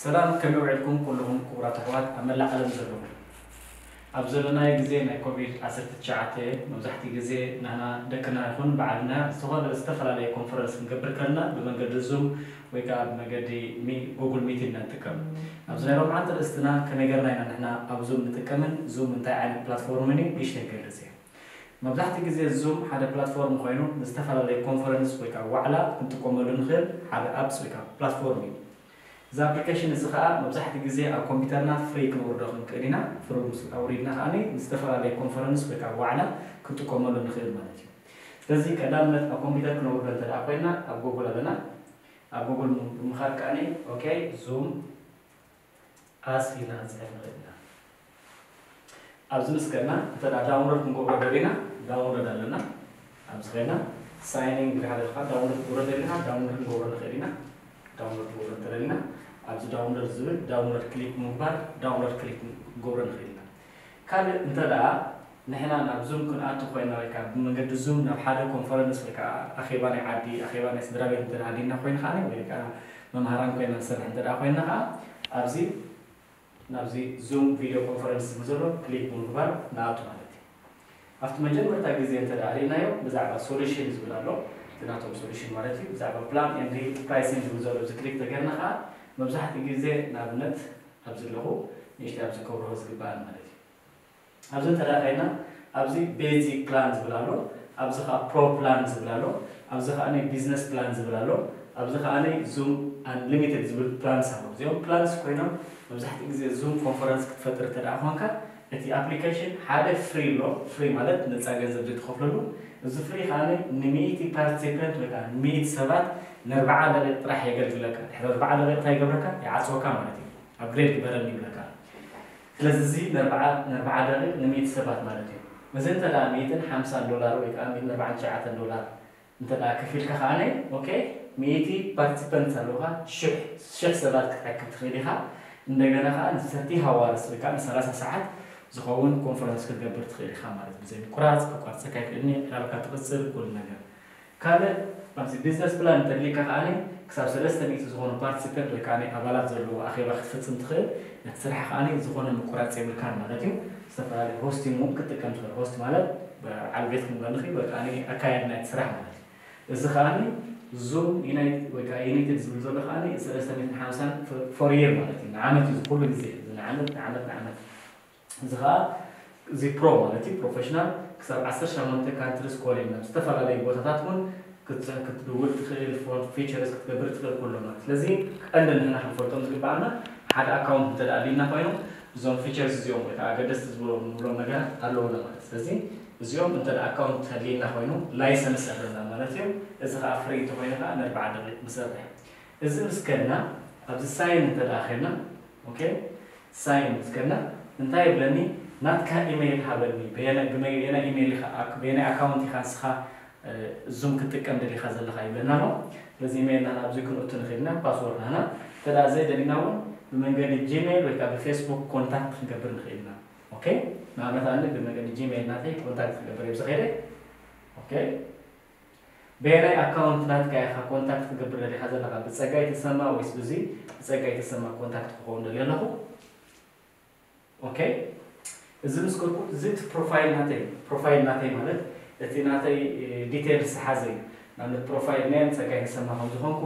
ሰላም፣ ከመይ ውዒልኩም ኩልኹም ክቡራት ኣሕዋት ኣብ መላእ ዓለም ዘለኹም? ኣብ ዘለናዮ ግዜ ናይ ኮቪድ ዓሰርተ ትሽዓተ፣ መብዛሕትኡ ግዜ ንሕና ደቅና ይኹን ባዕልና ዝኾነ ዝተፈላለየ ኮንፈረንስ ክንገብር ከለና ብመንገዲ ዙም ወይ ከዓ ብመገዲ ሚ-፣ ጉግል ሚት ኢና ንጥቀም። ኣብዚ ናይ ሎምዓንቲ ርእስትና ከመይ ጌርና ኢና ንሕና ኣብ ዙም ንጥቀምን ዙም እንታይ ዓይነት ፕላትፎርምን እዩ ንእሽተይ ክገልጽ እየ። መብዛሕትኡ ግዜ ዙም ሓደ ፕላትፎርም ኮይኑ ንዝተፈላለየ ኮንፈረንስ ወይ ከዓ ዋዕላ ክንጥቀመሉ ንኽእል ሓደ ኣፕስ ወይ ከዓ ፕላትፎርም እዩ። እዚ ኣፕሊኬሽን እዚ ከዓ መብዛሕትኡ ግዜ ኣብ ኮምፒውተርና ፍሪ ክነውርዶ ክንክእል ኢና። ፍሪ ምስ ኣውሪድና ከዓ ንዝተፈላለየ ኮንፈረንስ ወይ ከዓ ዋዕላ ክንጥቀመሉ ንኽእል ማለት እዩ። ስለዚ ቀዳምነት ኣብ ኮምፒውተር ክነውርዶ እንተ ደኣ ኮይና ኣብ ጉግል ኣለና። ኣብ ጉግል ብምኻድ ከዓ ኦኬ ዙም ኣስ ኢልና ክንፅሕፍ ንኽእል ኢና። ኣብዚ ምስ ከድና እንተ ደኣ ዳውንሎድ ክንገብሮ ደሊና ዳውንሎድ ኣለና። ኣብዚ ከድና ሳይን ኢን ኢልካ ደሊኻ ዳውንሎድ ክትገብሮ ደሊኻ ዳውንሎድ ክንገብሮ ንኽእል ኢና። ዳውንሎድ ክንገብሮ እንተ ደሊና ኣብዚ ዳውንሎድ ዝብል ዳውንሎድ ክሊክ ብምግባር ዳውንሎድ ክሊክ ክንገብሮ ንኽእል ኢና። ካልእ እንተ ደኣ ንሕና ናብ ዙም ክንኣቱ ኮይና ወይ ከዓ ብመንገዲ ዙም ናብ ሓደ ኮንፈረንስ ወይ ከዓ ኣኼባ ናይ ዓዲ ኣኼባ ናይ ስድራ ቤት እንተ ደኣ ኣዲና ኮይኑ ከዓ ወይ ከዓ መምሃራን ኮይና ንሰርሕ እንተ ደኣ ኮይና ከዓ ኣብዚ ናብዚ ዙም ቪድዮ ኮንፈረንስ ዝብል ዘሎ ክሊክ ብምግባር ንኣቱ ማለት እዩ። ኣብቲ መጀመርታ ግዜ እንተ ደኣ ርኢናዮ ብዛዕባ ሶሉሽን ዝብል ኣሎ። እቲ ናቶም ሶሉሽን ማለት እዩ። ብዛዕባ ፕላን ኤንድ ፕራይሲንግ ዝብል ዘሎ እዚ ክሊክ ተገርና ከዓ መብዛሕትኡ ግዜ ንኣብነት ኣብዚ ኣለኹ ንእሽተይ ኣብዚ ከብርሆ ዝግባኣን ማለት እዩ። ኣብዚ እንተ ደኣ ኸይና ኣብዚ ቤዚክ ፕላን ዝብል ኣሎ፣ ኣብዚ ከዓ ፕሮ ፕላን ዝብል ኣሎ፣ ኣብዚ ከዓ ቢዝነስ ፕላን ዝብል ኣሎ፣ ኣብዚ ከዓ ዙም ኣንሊሚትድ ዝብል ፕላንስ ኣሎ። እዚኦም ፕላንስ ኮይኖም መብዛሕትኡ ግዜ ዙም ኮንፈረንስ ክትፈጥር እንተ ደኣ ኾንካ እቲ ኣፕሊኬሽን ሓደ ፍሪ ኣሎ፣ ፍሪ ማለት ነፃ ገንዘብ ዘይትኸፍለሉ። እዚ ፍሪ ከዓ ንሚእቲ ፓርቲሲፐንት ወይ ከዓ ንሚእቲ ሰባት ንኣርብዓ ደቂቕ ጥራሕ የገልግለካ። ድሕሪ ኣርብዓ ደቂቕ እንታይ ይገብረካ? ይዓፅወካ ማለት እዩ። ኣፕግሬድ ግበረኒ ይብለካ። ስለዚ እዚ ንኣርብዓ ንኣርብዓ ደቂቕ ንሚእቲ ሰባት ማለት እዩ። እዚ እንተ ደኣ ሚእትን ሓምሳን ዶላር ወይ ከዓ ሚእትን ኣርባዓን ትሽዓተን ዶላር እንተ ደኣ ከፊልካ ከዓነ ኦኬ ሚእቲ ፓርቲሲፐንት ኣለውካ ሽሕ ሽሕ ሰባት ክትኣክብ ትኽእል ኢኻ። እንደገና ከዓ ንሰርቲ ሃዋርስ ወይ ከዓ ንሰላሳ ሰዓት ዝኸውን ኮንፈረንስ ክትገብር ትኽእል ኢኻ ማለት እዩ። ብዘይ ምቁራፅ ክቋርፀካ ይኽእልኒ ዕላልካ ትቕፅል ኩሉ ነገር። ካልእ ኣብዚ ቢዝነስ ፕላን እንተድልየካ ከዓኒ ክሳብ ሰለስተ ሚእቲ ዝኾኑ ፓርቲሲፐንት ወይ ከዓኒ ኣባላት ዘለዎ ኣኼባ ክትፍጽም ትኽእል። ነቲ ስራሕ ከዓኒ ዝኾነ ምቁራጽ የብልካን ማለት እዩ። ዝተፈላለዩ ሆስቲንግ እውን ክትጥቀም ትኽእል። ሆስት ማለት በዓል ቤት ክንብል ንኽእል ወይ ከዓኒ ኣካያዲ ናይቲ ስራሕ ማለት እዩ። እዚ ከዓኒ ዙም ዩናይት ወይ ከዓ ዩናይትድ ዝብል ዘሎ ከዓኒ ሰለስተ ሚእትን ሓምሳን ፎር ይር ማለት እዩ። ንዓመት እዩ እዚ ኩሉ ግዜ እዚ ንዓመት ንዓመት ንዓመት። እዚ ኸዓ እዚ ፕሮ ማለት እዩ ፕሮፌሽናል ክሳብ ዓሰርተ ሸሞንተ ካንትሪስ ኮሊን ናብ ዝተፈላለዩ ቦታታት እውን ክትድውል ትኽእል ፎን ፊቸርስ ክትገብር ትኽእል ኩሎ ማለት ስለዚ ቀንዲ ንሕና ክንፈልጦም ዝግባኣና ሓደ ኣካውንት እንተ ኣድልና ኮይኑ እዞም ፊቸርስ እዚኦም ወይ ከዓ ኣገደስቲ ዝብሎም ንብሎም ነገራት ኣለውና ማለት ስለዚ እዚኦም እንተ ኣካውንት ኣድልና ኮይኑ ላይሰንስ ኣለና ማለት እዩ እዚ ከዓ ፍሪ እንተኮይኑ ከዓ ንኣርባዓ ደቂቅ ንሰርሕ እዚ ምስ ከድና ኣብዚ ሳይን እንተ ኸድና ኦኬ ሳይን ምስ ከድና እንታይ ይብለኒ ናትካ ኢሜይል ሃበኒ በየናይ ኢሜይል ኢኻ በየናይ ኣካውንት ኢኻ ንስኻ ዙም ክትጥቀም ደሊኻ ዘለኻ ይብለና ኣሎ ስለዚ ኢሜይልና ናብዚ ክንእቱ ንኽእልና ፓስወርድ ናና እንተ ዘይደሊና እውን ብመንገዲ ጂሜይል ወይ ከዓ ብፌስቡክ ኮንታክት ክንገብር ንኽእልና ኦኬ ንኣብነት ኣነ ብመንገዲ ጂሜይል ናተይ ኮንታክት ክገብር እየ ብዝኸይደ ኦኬ በየናይ ኣካውንት ናትካ ኢኻ ኮንታክት ክገብር ደሊኻ ዘለኻ ብፀጋይ ተሰማ ወይስ ብዚ ብፀጋይ ተሰማ ኮንታክት ክኸውን ደልየ ኣለኹ ኦኬ እዚ ምስ ገርኩ እዚ እቲ ፕሮፋይል ናተይ ፕሮፋይል ናተይ ማለት እቲ ናተይ ዲቴልስ ዝሓዘ እዩ ንኣብነት ፕሮፋይል ናይ ፀጋይ ተሰማ ከም ዝኾንኩ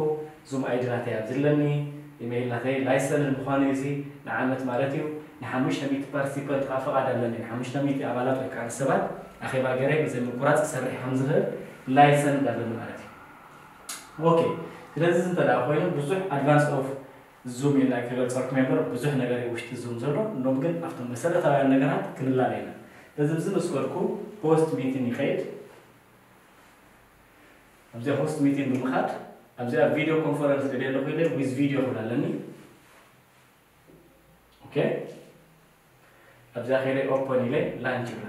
ዙም ኣይዲ ናተይ ኣብዚ ኣለኒ ኢሜይል ናተይ ላይሰንድ ምዃኑ እዚ ንዓመት ማለት እዩ ንሓሙሽተ ሚእቲ ፓርቲሲፐንት ከዓ ፍቓድ ኣለኒ ንሓሙሽተ ሚእቲ ኣባላት ወይ ከዓ ሰባት ኣኼባ ገይረ ብዘይ ምቁራፅ ክሰርሕ ከም ዝኽእል ላይሰንድ ኣለኒ ማለት እዩ ኦኬ ስለዚ እዚ እንተ ኮይኑ ብዙሕ ኣድቫንስ ኦፍ ዙም ኢልና ክገልፀልኩም እምበር ብዙሕ ነገር እዩ ውሽጢ ዙም ዘሎ እኖም ግን ኣብቶም መሰረታውያን ነገራት ክንላለ ኢና ስለዚ እዚ ምስ በልኩ ሆስት ሚቲን ይኸይድ ኣብዚኣ ሆስት ሚቲን ብምኻድ ኣብዚኣ ቪድዮ ኮንፈረንስ ደልየ ኣለኹ ኢለ ዊዝ ቪድዮ ክብል ኣለኒ ኦኬ ኣብዚኣ ከይደ ኦፐን ኢለ ላንች ይብላ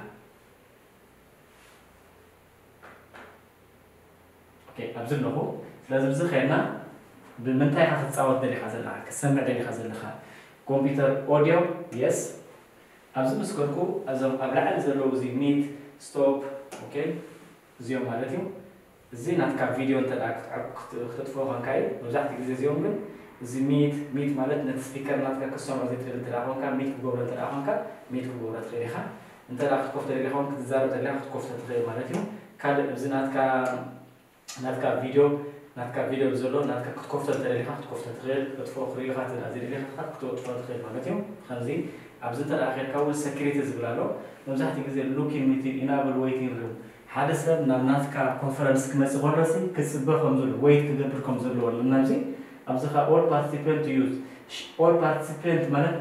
ኦኬ ኣብዚ ኣለኹ ስለዚ ብዚ ከይድና ብምንታይ ኢኻ ክትፃወት ደሊኻ ዘለኻ ክትሰምዕ ደሊኻ ዘለኻ ኮምፒውተር ኦዲዮ የስ ኣብዚ ምስ ከድኩ እዞም ኣብ ላዕሊ ዘለዉ እዚ ሚት ስቶፕ ኦኬ እዚኦም ማለት እዩ እዚ ናትካ ቪድዮ እንተ ክትጥፍኦ ኮንካ እዩ መብዛሕትኡ ግዜ እዚኦም ግን እዚ ሚት ሚት ማለት ነቲ ስፒከር ናትካ ክትሰምዖ ዘይትደሊ እንተ ደኣ ኮንካ፣ ሚት ክገብሮ እንተ ደኣ ኮንካ፣ ሚት ክገብሮ ትኽእል ኢኻ። እንተ ደኣ ክትከፍቶ ደሊኻ እውን ክትዛረብ ደሊኻ ክትከፍቶ ትኽእል ማለት እዩ። ካልእ እዚ ናትካ ናትካ ቪድዮ ናትካ ቪድዮ ዘሎ ናትካ ክትከፍቶ እንተ ደሊኻ ክትከፍቶ ትኽእል፣ ክትጥፍኦ ክሪኢኻ እንተ ደኣ ዘይደሊኻ ክትጥፍኦ ትኽእል ማለት እዩ። ከምዚ ኣብዚ እንተ ደኣ ኬድካ እውን ሰኪሪቲ ዝብል ኣሎ። መብዛሕትኡ ግዜ ሉኪን ሚቲን ኢናብል ዌይቲንግ ሩም ሓደ ሰብ ናብ ናትካ ኮንፈረንስ ክመጽእ ከሎሲ ክጽበ ከም ዘሎ ወይት ክገብር ከም ዘለዎ ኣለና። ኣብዚ ኣብዚ ኸ ኦል ፓርቲሲፐንት ዩዝ ኦል ፓርቲሲፐንት ማለት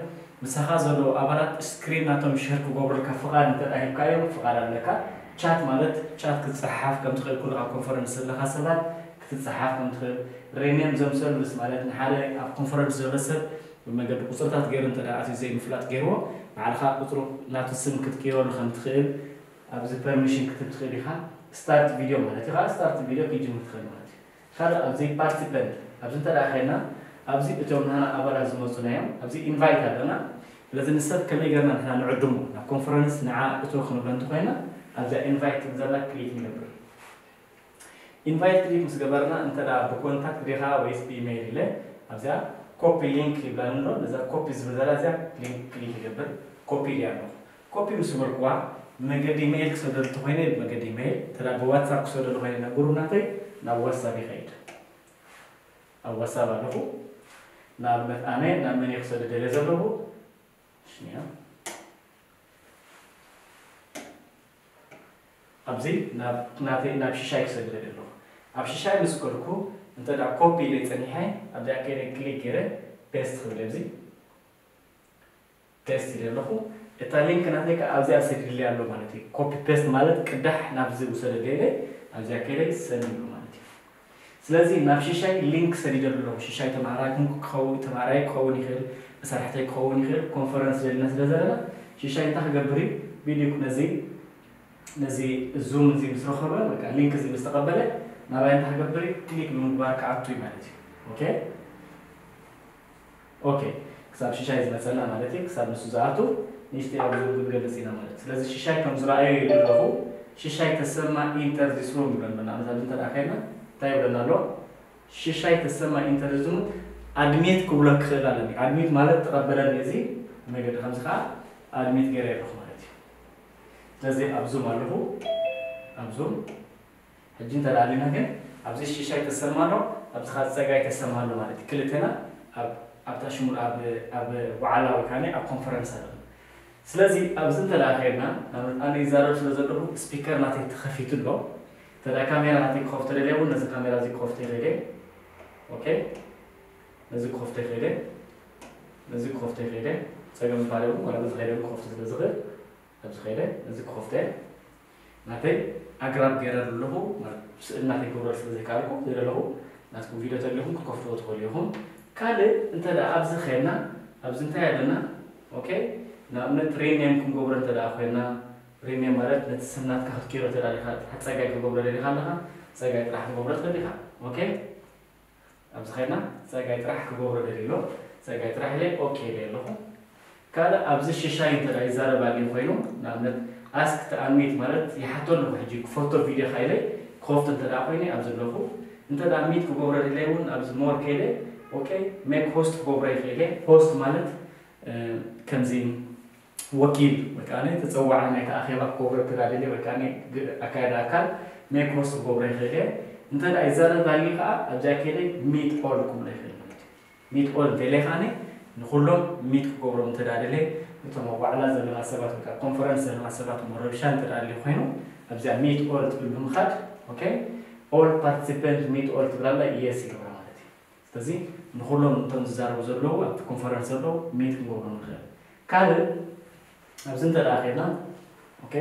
ምሳኻ ዘለዉ ኣባላት ስክሪን ናቶም ሸር ክገብሩልካ ፍቓድ እንተ ደኣ ሂብካዮም ፍቓድ ኣለካ። ቻት ማለት ቻት ክትጸሓሓፍ ከም ትኽእል ኩሉ ኣብ ኮንፈረንስ ዘለኻ ሰባት ክትጸሓፍ ከም ትኽእል። ሪኔም ዘምሰልቭስ ማለት ንሓደ ኣብ ኮንፈረንስ ዘሎ ሰብ ብመገዲ ቁጽርታት ገይሩ እንተ ደኣ ኣትዩ ዘይምፍላጥ ገይርዎ ባዕልኻ ቁጽሩ ናቱ ስም ክትቅይረሉ ከም ትኽእል ኣብዚ ፐርሚሽን ክትብ ትኽእል ኢኻ። ስታርት ቪድዮ ማለት እዩ። ከዓ ስታርት ቪድዮ ክትጅምር ትኽእል ማለት እዩ። ካልእ ኣብዚ ፓርቲሲፐንት ኣብዚ እንተ ደኣ ኸይድና ኣብዚ እቶም ናና ኣባላት ዝመፁና እዮም። ኣብዚ ኢንቫይት ኣለና። ስለዚ ንሰብ ከመይ ገርና ንሕና ንዕድሙ ናብ ኮንፈረንስ ንዓ እቶ ክንብሎ እንተኾይና ኣብዛ ኢንቫይት ትብል ዘላ ክሊክ ንገብር። ኢንቫይት ክሊክ ምስ ገበርና እንተ ደኣ ብኮንታክት ዲኻ ወይስ ብኢሜይል ኢለ ኣብዚኣ ኮፒ ሊንክ ይብላኒ ኣሎ። ነዛ ኮፒ ዝብል ዘላ እዚኣ ሊንክ ክሊክ ይገብር። ኮፒ ኢለያ ኣለኹ። ኮፒ ምስ በልኩዋ ብመገዲ ኢሜይል ክሰደሉ እንተኾይነ ብመገዲ ኢሜይል፣ እንተ ደኣ ብዋትሳፕ ክሰደሉ ኮይነ ናብ ግሩፕ ናተይ ናብ ዋትሳፕ ይኸይድ። ኣብ ዋትሳፕ ኣለኹ። ንኣብነት ኣነ ናብ መን እየ ክሰድድ ደልየ ዘለኹ? ሽኒያ ኣብዚ ናብ ናተይ ናብ ሽሻይ ክሰድድ ኣለኹ። ኣብ ሽሻይ ምስ ከድኩ እንተ ደኣ ኮፒ ኢለ ጸኒሐ ኣብዚኣ ከይደ ክሊክ ገይረ ፔስት ክብል ኣብዚ ፔስት ኢለ ኣለኹ። እታ ሊንክ ናተይ ከኣ ኣብዚኣ ሰዲድለይ ኣሎ ማለት እዩ። ኮፒ ፔስት ማለት ቅዳሕ ናብዚ ውሰደለይ ኢለ ኣብዚኣ ከይደ ሰንድ ይብሎ ማለት እዩ። ስለዚ ናብ ሽሻይ ሊንክ ሰዲደሉ ኣለኹ። ሽሻይ ተማሃራይ ክኸውን ተማሃራይ ክኸውን ይኽእል፣ መሳርሕተይ ክኸውን ይኽእል፣ ኮንፈረንስ ደሊና ስለ ዘለና ሽሻይ እንታይ ክገብር እዩ? ቪድዮ ነዚ ነዚ ዙም እዚ ምስ ረኸበ በቃ ሊንክ እዚ ምስ ተቐበለ ናባይ እንታይ ክገብር እዩ? ክሊክ ብምግባር ክኣቱ እዩ ማለት እዩ። ኦኬ ኦኬ ክሳብ ሽሻይ ዝመፀና ማለት እዩ። ክሳብ ንሱ ዝኣቱ ንእሽተይ ኣብዚ ክንገልፅ ኢና ማለት እዩ። ስለዚ ሽሻይ ከም ዝረኣዮ ይብል ኣለኹ። ሽሻይ ተሰማ ኢንተር ዚስ ሩም ይብለና። ንኣብነት ኣብዚ እንተ ደኣ ከይድና እንታይ ይብለና ኣሎ? ሽሻይ ተሰማ ኢንተር ዚስ ሩም ኣድሚት ክብሎ ክኽእል ኣለኒ። ኣድሚት ማለት ተቐበለኒ እዚ መገዲ ከምዚ ከዓ ኣድሚት ገይረ ኣለኹ ማለት እዩ። ስለዚ ኣብ ዙም ኣለኹ ኣብ ዙም ሕጂ እንተ ደኣ ኣሊና ግን ኣብዚ ሽሻይ ተሰማ ኣሎ ኣብዚ ከዓ ፀጋይ ተሰማ ኣሎ ማለት እዩ። ክልተና ኣብ ኣብታ ሽሙን ኣብ ኣብ ዋዕላ ወይ ከዓ ኣብ ኮንፈረንስ ኣለና። ስለዚ ኣብዚ እንተ ደኣ ከይድና ንኣብነት ኣነ ይዛረብ ስለ ዘለኹ ስፒከር ናተይ ተኸፊቱ ኣሎ። እንተ ደኣ ካሜራ ናተይ ክኸፍቶ ደልየ እውን ነዚ ካሜራ እዚ ክኸፍቶ ይኽእል እየ። ኦኬ ነዚ ክኸፍቶ ይኽእል እየ። ነዚ ክኸፍቶ ይኽእል እየ። ጸገም ባሪ እውን ዋላ በዚ ከይደ እውን ክኸፍቶ ስለ ዝኽእል ኣብዚ ከይደ ነዚ ክኸፍቶ እየ። ናተይ ኣግራብ ገይረ ኣለኹ ማለት ስእሊ ናተይ ክገብረሉ ስለ ዘይከኣልኩ ዝደለኹ ናትኩም ቪድዮ ተሊኹም ክትከፍትዎ ትኽእሉ ኢኹም። ካልእ እንተ ደኣ ኣብዚ ኸይድና ኣብዚ እንታይ ኣለና? ኦኬ ንኣብነት ሪኔም ክንገብሮ እንተ ደኣ ኮይና ሪኔም ማለት ነቲ ስም ናትካ ክትቅይሮ እንተ ደኣ ኢኻ ጸጋይ ክገብሮ ደሊኻ ኣለኻ ጸጋይ ጥራሕ ክትገብሮ ትኽእል ኢኻ። ኦኬ ኣብዚ ኸይድና ጸጋይ ጥራሕ ክገብሮ ደልየ ኣሎ። ጸጋይ ጥራሕ ኢለ ኦኬ ኢለ ኣለኹ። ካልእ ኣብዚ ሽሻይ እንተ ደኣ ይዛረብ ኣልዩ ኮይኑ ንኣብነት ኣስክ ተ ኣድሚት ማለት ይሓቶ ኣለኹ ሕጂ ክፈቶ ቪድዮ ካ ኢለ ክኸፍቶ እንተ ደኣ ኮይነ ኣብዚ ኣለኹ። እንተ ደኣ ሚት ክገብሮ ደልየ እውን ኣብዚ ሞር ከይደ ኦኬ ሜክ ሆስት ክገብሮ ይኽእል እየ። ሆስት ማለት ከምዚ ወኪል ወይ ከዓ ተፀዋዒ ናይቲ ኣኼባ ክገብሮ እንተ ደኣ ደልየ ወይ ከዓ ኣካያዲ ኣካል ሜክ ሆስት ክገብሮ ይኽእል እየ። እንተ ደኣ ይዛረብ ኣልዩ ከዓ ኣብዚኣ ከይደ ሚት ኦል ክብሎ ይኽእል ማለት እዩ። ሚት ኦል ደልየ ከዓ ንኩሎም ሚት ክገብሮም እንተ ደኣ ደልየ እቶም ኣብ ዋዕላ ዘለና ሰባት ወይ ከዓ ኮንፈረንስ ዘለና ሰባት እሞ ረብሻ እንተ ደኣ ኣልዩ ኮይኑ ኣብዚኣ ሚት ኦል ትብል ብምኻድ ኦኬ ኦል ፓርቲሲፐንት ሚት ኦል ትብል ኣላ የስ ይገብራ ማለት እዩ። ስለዚ ንኹሎም እቶም ዝዛረቡ ዘለዉ ኣብቲ ኮንፈረንስ ዘለዉ ሚት ክንገብሮም ንኽእል። ካልእ ኣብዚ እንተ ደኣ ኸይድና ኦኬ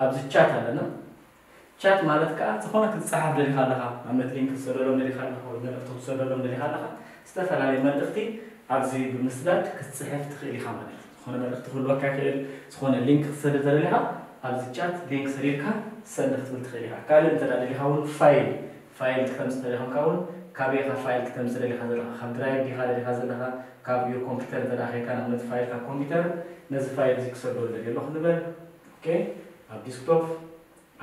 ኣብዚ ቻት ኣለና። ቻት ማለት ከዓ ዝኾነ ክትፀሓፍ ደሊኻ ኣለኻ፣ ኣብነት ሊንክ ክትሰደሎም ደሊኻ ኣለኻ ወይ መልእኽቲ ክትሰደሎም ደሊኻ ኣለኻ፣ ዝተፈላለየ መልእኽቲ ኣብዚ ብምስዳድ ክትፅሕፍ ትኽእል ኢኻ ማለት እዩ። ዝኾነ መልእኽቲ ክህልወካ ይኽእል፣ ዝኾነ ሊንክ ክትሰድድ ተደሊኻ ኣብዚ ቻት ሊንክ ሰዲድካ ሰንድ ክትብል ትኽእል ኢኻ። ካልእ እንተ ደኣ ደሊኻ እውን ፋይል ፋይል ክተምፅእ ተደሊኻ እውን ካበይ ኢኻ ፋይል ክተምፅእ ደሊኻ ዘለኻ? ካብ ድራይቭ ዲኻ ደሊኻ ዘለኻ? ካብ ዩር ኮምፒውተር እንተ ደኣ ኸይድካ ንኣብነት ፋይል ካብ ኮምፒውተር ነዚ ፋይል እዚ ክሰዶ ደልየ ኣለኹ ንበል። ኦኬ ኣብ ዲስክቶፕ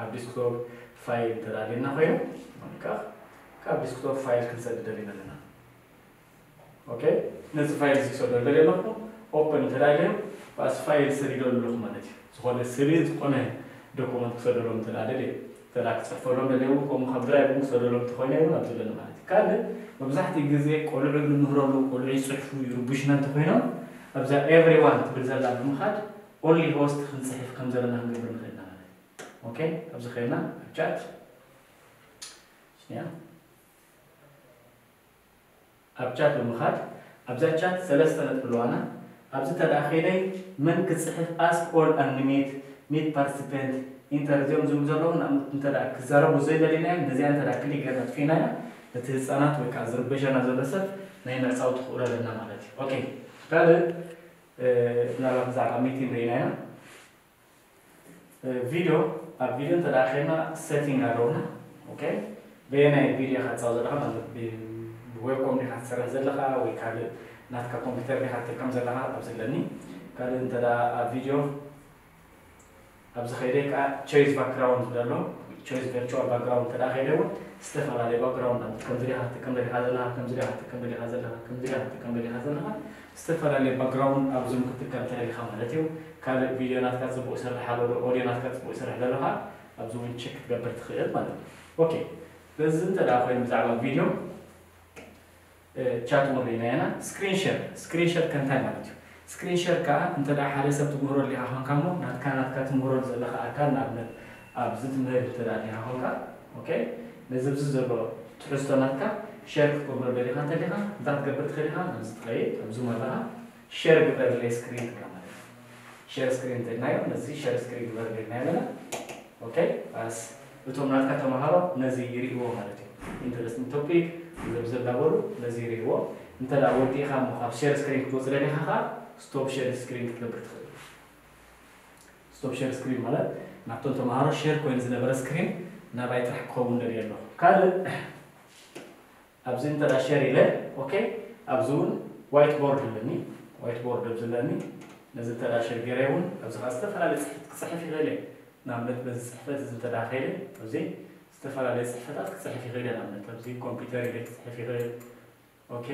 ኣብ ዲስክቶፕ ፋይል እንተ ደኣ ደሊና ኮይኑ ካብ ዲስክቶፕ ፋይል ክንሰድድ ደሊና ኣለና። ኦኬ፣ ነዚ ፋይል እዚ ክሰደሉ ደልየ ኣለኹ። ኦፕን እንተ ደኣ ኢለዮም፣ ብኣስ ፋይል ሰዲደሉ ኣለኹ ማለት እዩ። ዝኾነ ስእሊ፣ ዝኾነ ዶኩመንት ክሰደሎም እንተ ደኣ ደልየ፣ እንተ ደኣ ክጽሕፈሎም ደልየ እውን፣ ከምኡ ካብ ድራይቭ እውን ክሰደሎም እንተኾይነ እውን ኣብዚ ኣለኒ ማለት እዩ። ካልእ፣ መብዛሕትኡ ግዜ ቆልዑ ንምህረሉ፣ ቆልዑ ይጽሕፉ፣ ይርቡሽና እንተኾይኖም፣ ኣብዛ ኤቭሪዋን ትብል ዘላ ብምኻድ፣ ኦንሊ ሆስት ክንጽሕፍ ከም ዘለና ክንገብር ንኽእል ኢና ማለት እዩ። ኦኬ፣ ኣብዚ ኸይድና ኣብ ቻት፣ ሽኒያ፣ ኣብ ቻት ብምኻድ፣ ኣብዛ ቻት ሰለስተ ነጥቢ ኣለዋና። ኣብዚ እንተ ደኣ ከይደይ መን ክጽሕፍ፣ ኣስክ ኦል ኣንድ ሚት፣ ሚት ፓርቲሲፐንት፣ ኢንተር፣ እዚኦም ዝብሉ ዘለዉ ንኣብነት እንተ ደኣ ክዛረቡ ዘይደሊናዮም፣ ነዚኣ እንተ ደኣ ክሊክ ጌርና ኣጥፊእናያ፣ እቲ ህጻናት ወይ ከኣ ዝርበሸና ዘሎ ሰብ ናይ ምዕጻው ተኽእሎ ኣለና ማለት እዩ። ኦኬ፣ ካልእ፣ እ፣ ምናልባት ብዛዕባ ሚቲንግ ርኢናያ። እ፣ ቪድዮ፣ ኣብ ቪድዮ እንተ ደኣ ኸይድና ሴቲንግ ኣለውና። ኦኬ፣ በየናይ ቪድዮ ኢኻ ትጻወት ዘለኻ? ማለት ብ-፣ ብዌብኮም ዲኻ ትሰርሕ ዘለኻ ወይ ካልእ ናትካ ኮምፒውተር ዲኻ ትጥቀም ዘለኻ? ኣብዚ ኣለኒ። ካልእ እንተ ደኣ ኣብ ቪድዮ፣ ኣብዚ ኸይደ ከኣ ቾይስ ባክግራውንድ ዝብል ኣሎ። ቾይስ ቨርቹዋል ባክግራውንድ እንተ ደኣ ኸይደ እውን ዝተፈላለየ ባክግራውንድ፣ ከምዚ ዲኻ ትጥቀም ደሊኻ ዘለኻ፣ ከምዚ ዲኻ ትጥቀም ደሊኻ ዘለኻ፣ ከምዚ ዲኻ ትጥቀም ደሊኻ ዘለኻ፣ ዝተፈላለየ ባክግራውንድ ኣብ ዙም ክትጥቀም ትደሊኻ ማለት እዩ። ካልእ ቪድዮ ናትካ ጽቡቕ ይሰርሕ ኣሎ ዶ፣ ኦድዮ ናትካ ጽቡቕ ይሰርሕ ዘሎ ኸኣ ኣብዚ እውን ቸክ ክትገብር ትኽእል ማለት እዩ። ኦኬ፣ በዚ እንተ ደኣ ኮይኑ ብዛዕባ ቪድዮ፣ እ፣ ቻት እውን ርኢናዮ ኢና። ስክሪን ሸር፣ ስክሪን ሸር ከ እንታይ ማለት እዩ? ስክሪን ሸር ከኣ እንተ ደኣ ሓደ ሰብ ትምህሮ ኣሊኻ ኾንካ እሞ ናትካ፣ ናትካ ትምህሮ ዘለኻ ኣካል ንኣብነት ኣብዚ ትምህር እንተ ደኣ ኣሊኻ ኾንካ፣ ኦኬ፣ ነዚ ኣብዚ ዘሎ ትሕዝቶ ናትካ ሸር ክትገብሮ ደሊኻ እንተሊኻ እንታይ ክትገብር ትኽእል ኢኻ? ኣብዚ ትኸይድ፣ ኣብዚ ኣለኻ፣ ሸር ግበረለይ ስክሪን ትብላ ማለት እዩ። ሸር ስክሪን እንተልናዮ፣ ነዚ ሸር ስክሪን ግበረለይ ኢልናዮ ኣለና። ኦኬ፣ ባስ እቶም ናትካ ተምሃሮ ነዚ ይርእይዎ ማለት እዩ። ኢንተረስቲንግ ቶፒክ፣ ዘብዘብ እናበሉ ነዚ ይርእይዎ። እንተ ደኣ ወዲእኻ እሞ ካብ ሸር ስክሪን ክትወጽእ ደሊኻ ኸኣ፣ ስቶፕ ሸር ስክሪን ክትገብር ትኽእል። ስቶፕ ሸር ስክሪን ማለት ናብቶም ተምሃሮ ሸር ኮይኑ ዝነበረ ስክሪን ናባይ ጥራሕ ክኸውን ደልየ ኣለኹ። ካልእ ኣብዚ እንተ ደኣ ሸር ኢለ፣ ኦኬ፣ ኣብዚ እውን ዋይት ቦርድ ኣለኒ። ዋይት ቦርድ ኣብዚ ኣለኒ። ነዚ እንተ ደኣ ሸር ገይረ እውን ኣብዚ ኸኣ ዝተፈላለየ ጽሕፈት ክጽሕፍ ይኽእል እየ። ንኣብነት በዚ ጽሕፈት እዚ እንተ ደኣ ከይደ፣ ኣብዚ ዝተፈላለየ ጽሕፈታት ክጽሕፍ ይኽእል እየ። ንኣብነት ኣብዚ ኮምፒውተር ኢለ ክጽሕፍ ይኽእል። ኦኬ፣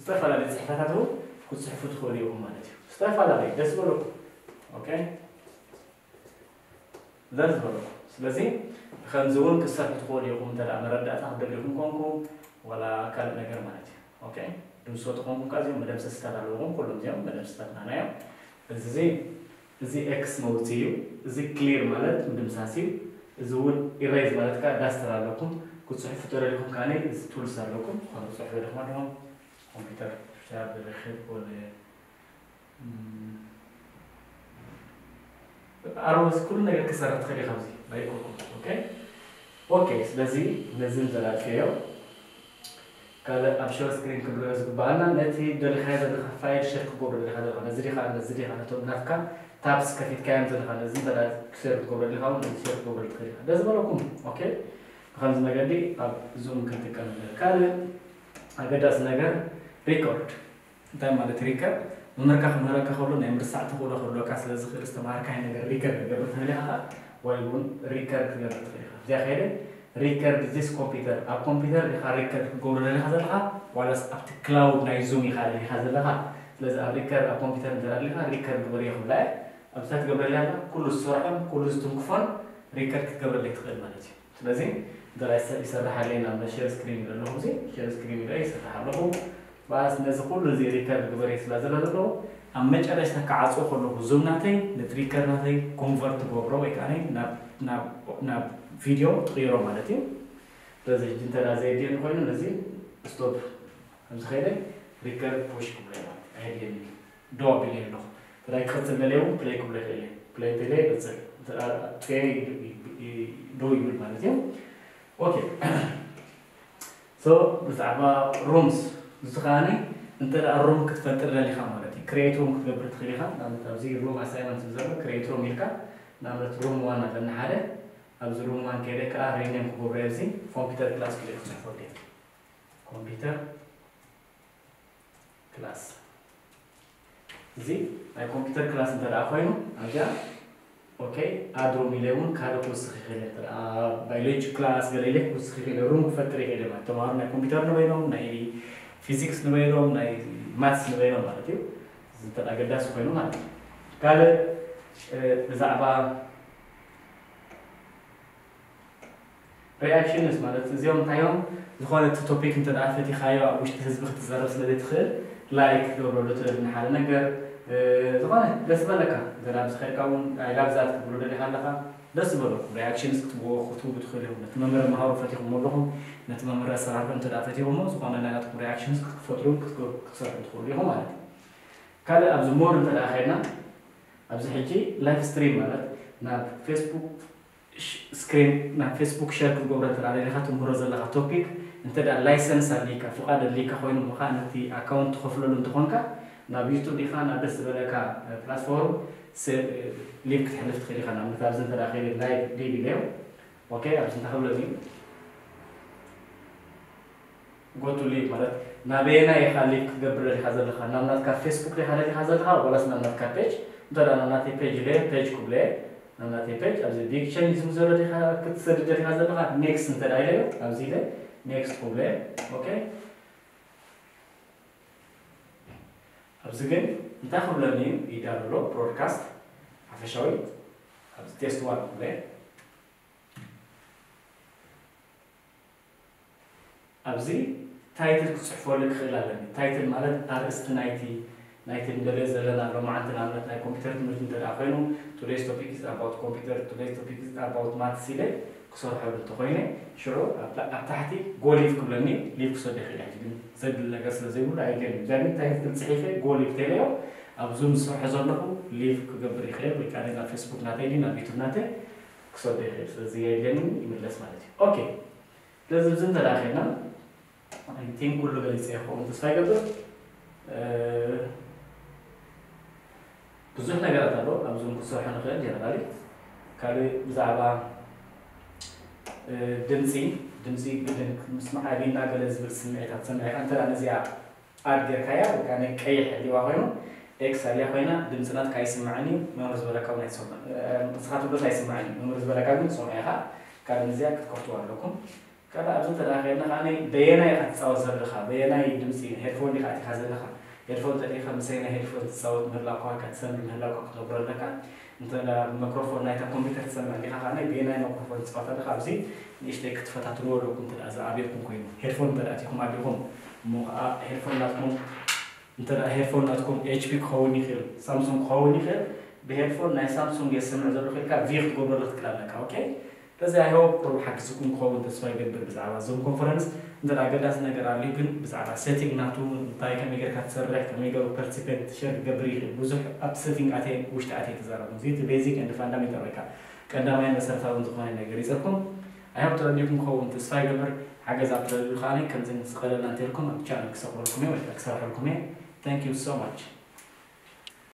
ዝተፈላለየ ጽሕፈታት እውን ክትጽሕፉ ትኽእሉ ኢኹም ማለት እዩ። ዝተፈላለየ ደስ ዝበለኩም። ኦኬ፣ ደስ ዝበለኩም። ስለዚ ብኸምዚ እውን ክትሰርሑ ትኽእሉ ኢኹም፣ እንተ ደኣ መረዳእታ ክትደልዩ ኢኹም ኮንኩም፣ ዋላ ካልእ ነገር ማለት እዩ። ኦኬ፣ ድምሶ ተኾንኩም ከኣ እዚኦም መደምሰስታት ኣለውኹም፣ ኩሎም እዚኦም መደምሰስታትና እዮም። እዚ፣ እዚ ኤክስ መውጽኢ እዩ። እዚ ክሊር ማለት ምድምሳስ እዩ። እዚ እውን ኢሬዝ ማለት ከኣ ዳስተር ኣለኩም። ክትጽሕፉ ተደሊኹም ከኣ እዚ ቱልስ ኣለኩም። ዝኾነ ክትጽሕፉ ደሊኹም ኣለኹም። ኮምፒውተር ሻብ ርክብ ወለ፣ እም፣ ኣሮስ ኩሉ ነገር ክሰርሕ ትኽእል ኢኻ ኣብዚ ባይኮኩም። ኦኬ፣ ኦኬ። ስለዚ ነዚ እንተላጥፈዮ ካልእ ኣብ ሸር ስክሪን ክንሪኦ ዝግባኣና ነቲ ደሊኻዮ ዘለኻ ፋይል ሸር ክገብሮ ደሊኻ ዘለኻ ነዚ ዲኻ፣ ነዚ ዲኻ፣ ነቶም ናትካ ታብስ ከፊትካዮም ዘለኻ ነዚ እንተ ደኣ ሸር ክትገብሮ ደሊኻ እውን ነዚ ሸር ክትገብሮ ትኽእል ኢኻ። ደስ ዝበለኩም። ኦኬ፣ ብኸምዚ መገዲ ኣብ ዙም ክንጥቀም ንኽእል። ካልእ ኣገዳሲ ነገር ሪኮርድ። እንታይ ማለት ሪከርድ? መምህርካ ክምህረካ ከሎ ናይ ምርሳዕ ተኽእሎ ክህልወካ ስለ ዝኽእል ዝተምሃርካዮ ነገር ሪከርድ ክትገብር ትኽእል ኢኻ፣ ወይ እውን ሪከርድ ክትገብር ትኽእል ኢኻ። እዚኣ ከይደ ሪከርድ ዚስ ኮምፒውተር፣ ኣብ ኮምፒውተር ኢኻ ሪከርድ ክትገብሮ ደሊኻ ዘለኻ ዋላስ ኣብቲ ክላውድ ናይ ዙም ኢኻ ደሊኻ ዘለኻ? ስለዚ ኣብ ሪከርድ ኣብ ኮምፒውተር እንተ ደኣ ደሊኻ ሪከርድ ግበር እየ ክብላ እየ። ኣብዛ ትገብረለይ ኣላ ኩሉ ዝሰርሖን ኩሉ ዝትንክፎን ሪከርድ ክትገብረለይ ትኽእል ማለት እዩ። ስለዚ እንተ ደኣ ይሰ-፣ ይሰርሕ ኣለይ ናብ ሸር ስክሪን ኢለ ኣለኹ፣ እዚ ሸር ስክሪን ኢለ ይሰርሕ ኣለኹ። ባስ ነዚ ኩሉ እዚ ሪከርድ ግበር እየ ስለ ዝብላ ዘለኹ፣ ኣብ መጨረሽታ ክዓጽዎ ከለኹ ዙም ናተይ ነቲ ሪከርድ ናተይ ኮንቨርት ትገብሮ ወይ ከኣ ናብ፣ ናብ፣ ናብ ቪድዮ ትቕይሮ ማለት እዩ። ስለዚ ሕጂ እንተ ደኣ ዘየድልየኒ ኮይኑ ነዚ ስቶፕ ከምዚ ከይደ ሪከርድ ፑሽ ክብሎ እየ ማለት እዩ። ኣየድልየኒ እዩ። ዶ ኣቢለ ኣለኹ። እንተ ደኣ ክቕጽል ደልየ እውን ፕለይ ክብሎ ይኽእል እየ። ፕለይ እንተ ኢለ ይቕጽል። እንተ ደኣ ኣጥፍኤ ይ-፣ ይ-፣ ይ-፣ ዶ ይብል ማለት እዩ። ኦኬ። ሶ ብዛዕባ ሩምስ እዚ ከኣኒ እንተ ደኣ ሩም ክትፈጥር ደሊኻ ማለት እዩ። ክሬት ሩም ክትገብር ትኽእል ኢኻ። ንኣብነት ኣብዚ ሩም ኣሳይመንት ዘሎ ክሬት ሩም ኢልካ ንኣብነት ሩም ዋን ኣለና ሓደ። ኣብዚ ሩም ዋን ከይደ ከኣ ሪኔም ክገብሮ እየ። እዚ ኮምፒውተር ክላስ ክልእ ክጽሕፎ ድየ። ኮምፒውተር ክላስ። እዚ ናይ ኮምፒውተር ክላስ እንተ ደኣ ኮይኑ ኣብዚኣ ኦኬ፣ ኣድ ሩም ኢለ እውን ካልእ ክውስኽ ይኽእል እየ። እንተ ደኣ ባዮሎጂ ክላስ ገለ ኢለ ክውስኽ ይኽእል እየ። ሩም ክፈጥር ይኽእል እየ ማለት ተምሃሮ ናይ ኮምፒውተር ንበይኖም፣ ናይ ፊዚክስ ንበይኖም ናይ ማትስ ንበይኖም ማለት እዩ። እዚ እንተ ኣገዳሲ ኮይኑ ማለት እዩ። ካልእ ብዛዕባ ሪኣክሽንስ ማለት እዚኦም እንታይ እዮም? ዝኾነ እቲ ቶፒክ እንተ ደኣ ፈቲኻዮ ኣብ ውሽጢ ህዝቢ ክትዛረብ ስለ ዘይትኽእል ላይክ ክትገብረሉ ትኽእል ንሓደ ነገር ዝኾነ ደስ በለካ እንተ ደኣ ብዝኸድካ እውን ኣይላብዛት ክትብሉ ደሊኻ ኣለኻ ደስ ዝበለኩም ሪኣክሽንስ ክትብዎ ክትህቡ ትኽእሉ እዮም። ነቲ መምህር መሃሩ ፈቲኹም ኣለኹም ነቲ መምህር ኣሰራርሑ እንተ ደኣ ፈቲኹሞ ዝኾነ ናይ ናትኩም ሪኣክሽንስ ክትፈጥሩን ክትሰርሑ ትኽእሉ ኢኹም ማለት እዩ። ካልእ ኣብዚ ሞር እንተ ደኣ ኸድና ኣብዚ ሕጂ ላይቭ ስትሪም ማለት ናብ ፌስቡክ ስክሪን ናብ ፌስቡክ ሸር ክትገብሮ እንተ ደኣ ደሊኻ ትምህሮ ዘለኻ ቶፒክ እንተ ደኣ ላይሰንስ ኣድልይካ ፍቓድ ኣድልይካ ኮይኑ እሞ ከዓ ነቲ ኣካውንት ትኸፍለሉ እንተኾንካ ናብ ዩቱብ ዲኻ ናብ ደስ ዝበለካ ፕላትፎርም ሊንክ ክትሕልፍ ትኽእል ኢኻ። ንኣብነት ኣብዚ እንተ ደኣ ከይደ ላይቭ ሊቭ ኢለዮ ኦኬ ኣብዚ እንታይ ክብለኒ እዩ? ጎ ቱ ሊቭ ማለት ናበየናይ ኢኻ ሊቭ ክትገብር ደሊኻ ዘለኻ ናብ ናትካ ፌስቡክ ዲኻ ደሊኻ ዘለኻ ዋላስ ናብ ናትካ ፔጅ እንተ ናብ ናተይ ፔጅ ኢለ ፔጅ ክብለ ናብ ናተይ ፔጅ ኣብዚ ቢግ ቸንጅ ዝም ዘሎ ዲኻ ክትሰድድ ደሊኻ ዘለኻ ኔክስት እንተ ኢለ ኣብዚ ኢለ ኔክስት ክብለ ኦኬ ኣብዚ ግን እንታይ ክብለኒ እዩ ይዳሎ ብሮድካስት ሓፈሻዊ ኣብዚ ቴስት ዋን ክብለ ኣብዚ ታይትል ክፅሕፈሉ ክኽእል ኣለኒ። ታይትል ማለት ኣርእስቲ ናይቲ ናይቲ ንደልዮ ዘለና ሎማዓንቲ ንኣብነት ናይ ኮምፒውተር ትምህርቲ እንተ ደኣ ኮይኑ today's topic is about computer today's topic is about maths ኢለ ክሰርሐሉ እንተኮይነ ሽዑ ኣብ ታሕቲ ጎ ሊቭ ክብለኒ ሊቭ ክሰዶ ይኽእል ሕጂ ግን ዘብል ነገር ስለ ዘይብሉ ኣይደልን ጃኒ ታይትል ፅሒፈ ጎ ሊቭ ተለዮ ኣብ ዙም ዝሰርሖ ዘለኹ ሊቭ ክገብር ይኽእል ወይ ከዓ ናብ ፌስቡክ ናተይ ናብ ዩቱብ ናተይ ክሰዶ ይኽእል ስለዚ የድልየኒ ይምለስ ማለት እዩ ኦኬ ስለዚ ብዚ እንተደኣ ኸድና ቲንክ ኩሉ ገሊፀ ይኸውን ተስፋ ይገብር ብዙሕ ነገራት ኣሎ ኣብዞም ክትሰርሖ ንኽእል ጀነራሊ ካልእ ብዛዕባ ድምፂ ድምፂ ግድን ምስማዕ ኣቢና ገለ ዝብል ስምዒታት ሰሚዕካ እንተ ነዚኣ ኣድ ጌርካያ ወይ ከዓ ናይ ቀይሕ ኣሊዋ ኮይኑ ኤክስ ኣልያ ኮይና ድምፂ ናትካ ኣይስማዕን እዩ መምህር ዝበለካ እውን ኣይትሰምዕ ንስኻ ትብሎስ ኣይስማዕን እዩ መምህር ዝበለካ ግን ትሰምዖ ኢኻ ካልእ ነዚኣ ክትከፍትዋ ኣለኩም ካልእ ኣብዚ እንተ ደኣ ከይድና ከዓ በየናይ ኢኻ ትፃወት ዘለኻ በየናይ ድምፂ ሄድፎን ዲኻ ኣቲኻ ዘለኻ ሄድፎን ተሊኻ ምሰይ ናይ ሄድፎን ትፃወት ምህላውካ ወይ ከዓ ትሰምዕ ምህላውካ ክትነግሮ ኣለካ እንተ መክሮፎን ናይታ ኮምፒውተር ትሰምዕ እንዲኻ ከዓ በየናይ መክሮፎን ትፃወት ኣለኻ ኣብዚ ንእሽተይ ክትፈታትንዎ ኣለኩም እንተ ዝኣበየኩም ኮይኑ ሄድፎን እንተ ኣቲኹም ኣቢኹም እሞ ከዓ ሄድፎን ናትኩም እንተ ሄድፎን ናትኩም ኤች ፒ ክኸውን ይኽእል ሳምሱንግ ክኸውን ይኽእል ብሄድፎን ናይ ሳምሱንግ የስምዕ ዘሎ ኢልካ ቪ ክትገብረሉ ክትክእል ኣለካ ኦኬ በዚ ኣይሆፕ ቁሩብ ሓጊዝኩም ክኸውን ተስፋ ይገብር ብዛዕባ ዞም ኮንፈረንስ እንተ ኣገዳሲ ነገር ኣልዩ ግን ብዛዕባ ሴቲንግ ናቱ እንታይ ከመይ ጌርካ ትሰርሕ ከመይ ገሩ ፐርቲሲፔንት ሸር ክገብር ይኽእል ብዙሕ ኣብቲ ሴቲንግ ኣትየ ውሽጢ ኣትየ ተዛረቡ እዚ እቲ ቤዚክ ኤንድ ፋንዳሜንታል ወይ ከዓ ቀዳማይ መሰረታዊ ዝኾነ ነገር ይፀኩም ኣይሆፕ ተረዲኹም ክኸውን ተስፋ ይገብር ሓገዝ ኣብ ትደልዩ ከዓ ከምዚ ስቐለልና እንተልኩም ኣብ ቻነል ክሰቕለልኩም እየ ወይ ከዓ ክሰርሐልኩም እየ thank you so much